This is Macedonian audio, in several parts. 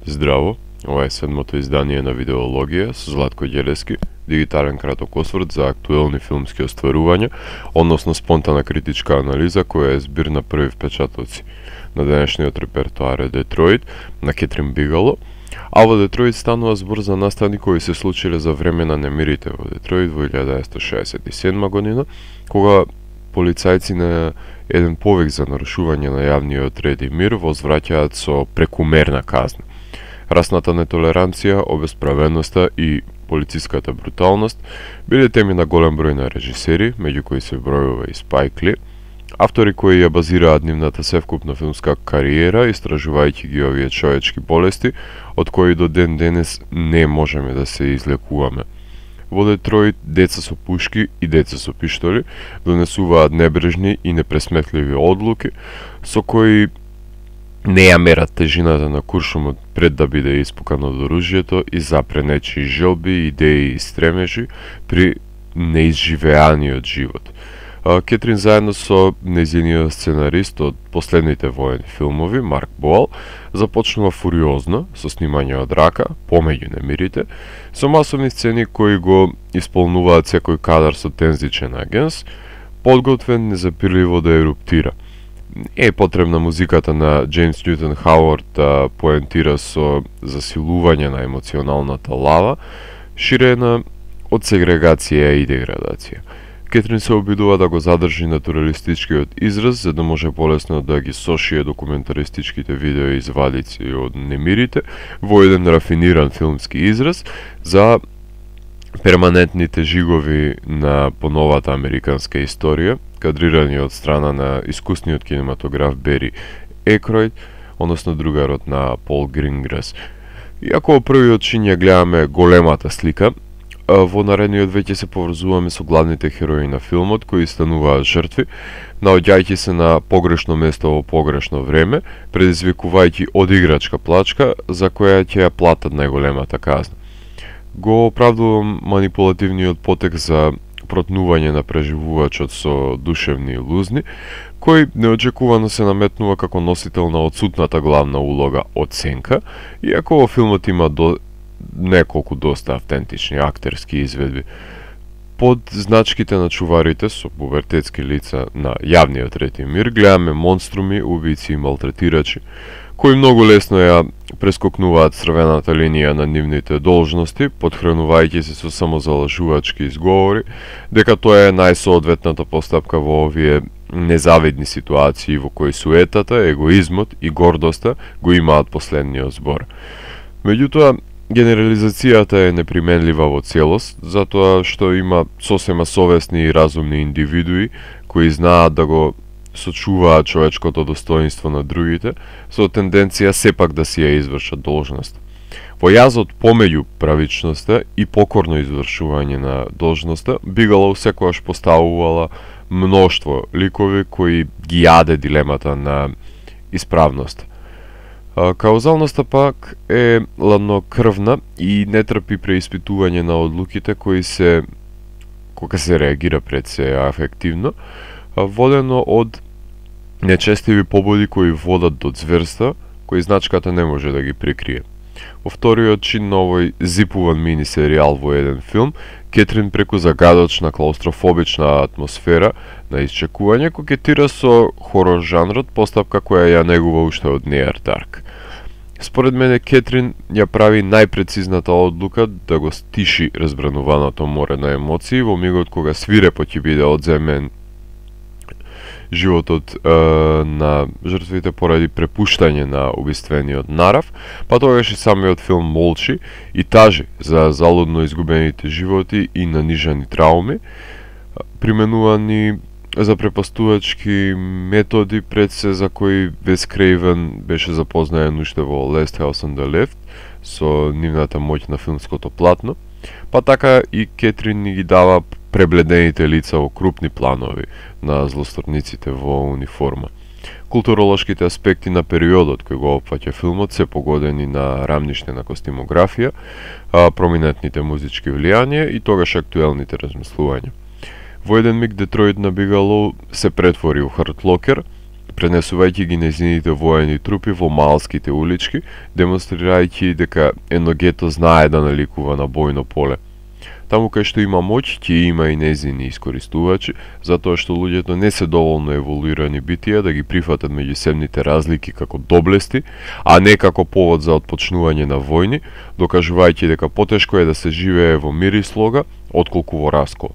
Здраво, ова е седмото издание на Видеологија со Златко Ѓелески, дигитален краток осврт за актуелни филмски остварувања, односно спонтана критичка анализа која е збир на први впечатоци на денешниот репертоар е Детройт на Кетрин Бигелоу, а во Детройт станува збор за настани кои се случиле за време на немирите во Детройт во 1967 година, кога полицајци на еден повик за нарушување на јавниот ред и мир возвраќаат со прекумерна казна. Расната нетолеранција, обесправеноста и полициската бруталност биле теми на голем број на режисери, меѓу кои се бројува и Спайк Ли, автори кои ја базираат нивната севкупна филмска кариера, истражувајќи ги овие човечки болести, од кои до ден денес не можеме да се излекуваме. Во Детройт деца со пушки и деца со пиштоли донесуваат небрежни и непресметливи одлуки со кои не ја мерат тежината на куршумот пред да биде испукан од оружјето и запре нечии желби, идеи и стремежи при неизживеаниот живот. Кетрин заедно со нејзиниот сценарист од последните воени филмови, Марк Боал, започнува фуриозно со снимање од рака, помеѓу немирите, со масовни сцени кои го исполнуваат секој кадар со тензичен агенс, подготвен незапирливо да еруптира. Е потребна музиката на Джеймс Ньютон Хауард да поентира со засилување на емоционалната лава, ширена од сегрегација и деградација. Кетрин се обидува да го задржи натуралистичкиот израз, за да може полесно да ги сошие документаристичките видео извадици од немирите во еден рафиниран филмски израз за перманентните жигови на поновата американска историја, кадрирани од страна на искусниот кинематограф Бери Екројд, односно другарот на Пол Гринграс. Иако во првиот чин ја гледаме големата слика, во наредниот веќе се поврзуваме со главните херои на филмот, кои стануваат жртви, наоѓајќи се на погрешно место во погрешно време, предизвикувајќи одиграчка плачка за која ќе ја платат најголемата казна. Го оправдувам манипулативниот потек за протнување на преживувачот со душевни лузни, кој неочекувано се наметнува како носител на отсутната главна улога оценка, иако во филмот има неколку доста автентични актерски изведби. Под значките на чуварите со пубертетски лица на јавниот ред и мир гледаме монструми, убици и малтретирачи, кои многу лесно ја прескокнуваат црвената линија на нивните должности, подхранувајќи се со самозалажувачки изговори, дека тоа е најсоодветната постапка во овие незавидни ситуации во кои суетата, егоизмот и гордоста го имаат последниот збор. Меѓутоа, генерализацијата е неприменлива во целост, затоа што има сосема совесни и разумни индивидуи кои знаат да го сочуваат човечкото достоинство на другите, со тенденција сепак да си ја извршат должност. Во јазот помеѓу правичноста и покорно извршување на должноста, Бигелоу секогаш поставувала мноштво ликови кои ги јаде дилемата на исправност. Каузалноста пак е ладнокрвна и не трпи преиспитување на одлуките кога се реагира пред се афективно, водено од нечестиви побуди кои водат до зверства, кои значката не може да ги прикрие. Во вториот чин на овој зипуван мини серијал во еден филм, Кетрин преку загадочна клаустрофобична атмосфера на исчекување кокетира со хорор жанрот, постапка која ја негува уште од Неар Дарк. Според мене Кетрин ја прави најпрецизната одлука да го стиши разбрануваното море на емоции во мигот кога свирепо ќе биде одземен животот на жртвите поради препуштање на убиствениот нарав, па тогаш и самиот филм молчи и тажи за залудно изгубените животи и нанижани трауми, применувани за препастувачки методи пред се за кои Вес Крейвен беше запознаен уште во Last House on the Left со нивната моќ на филмското платно, па така и Кетрин ни ги дава пребледените лица во крупни планови на злосторниците во униформа. Културолошките аспекти на периодот кој го опфаќа филмот се погодени на рамништена костимографија, проминентните музички влијанија и тогаш актуелните размислувања. Во еден миг Детройт на Бигелоу се претвори у хардлокер, пренесувајќи ги нејзините воени трупи во малските улички, демонстрирајќи дека едно гето знае да наликува на бојно поле. Таму кај што има моќ, ќе има и нејзини искористувачи, затоа што луѓето не се доволно еволуирани битија да ги прифатат меѓусебните разлики како доблести, а не како повод за отпочнување на војни, докажувајќи дека потешко е да се живее во мир и слога, отколку во раскол.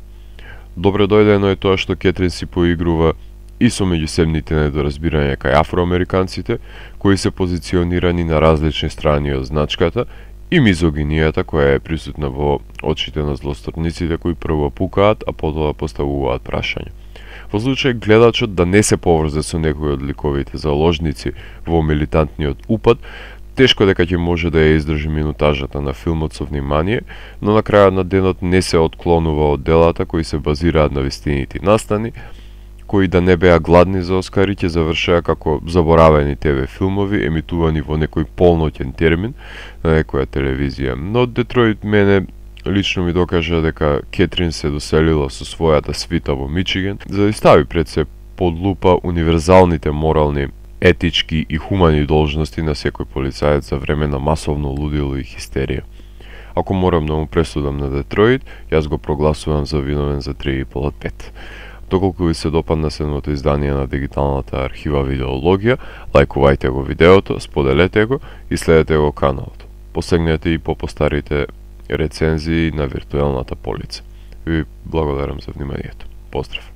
Добре дојдено е тоа што Кетрин си поигрува и со меѓусебните недоразбирања кај афроамериканците, кои се позиционирани на различни страни од значката, и мизогинијата која е присутна во очите на злосторниците кои прво пукаат, а потоа поставуваат прашања. Во случај гледачот да не се поврзе со некој од ликовите заложници во милитантниот упад, тешко дека ќе може да ја издржи минутажата на филмот со внимание, но на крајот на денот не се отклонува од делата кои се базираат на вистинити настани, кои да не беа гладни за Оскари, ќе завршеа како заборавени ТВ филмови, емитувани во некој полноќен термин на некоја телевизија. Но Детройт мене лично ми докажа дека Кетрин се доселила со својата свита во Мичиген, за да стави пред се под лупа универзалните морални, етички и хумани должности на секој полицаец за време на масовно лудило и хистерија. Ако морам да му пресудам на Детройт, јас го прогласувам за виновен за 3,5 од 5. Доколку ви се допадна 7-то издание на дигиталната архива Видеологија, лајкувајте го видеото, споделете го и следете го каналот. Посегнете и по постарите рецензии на виртуелната полица. Ви благодарам за вниманието. Поздрав!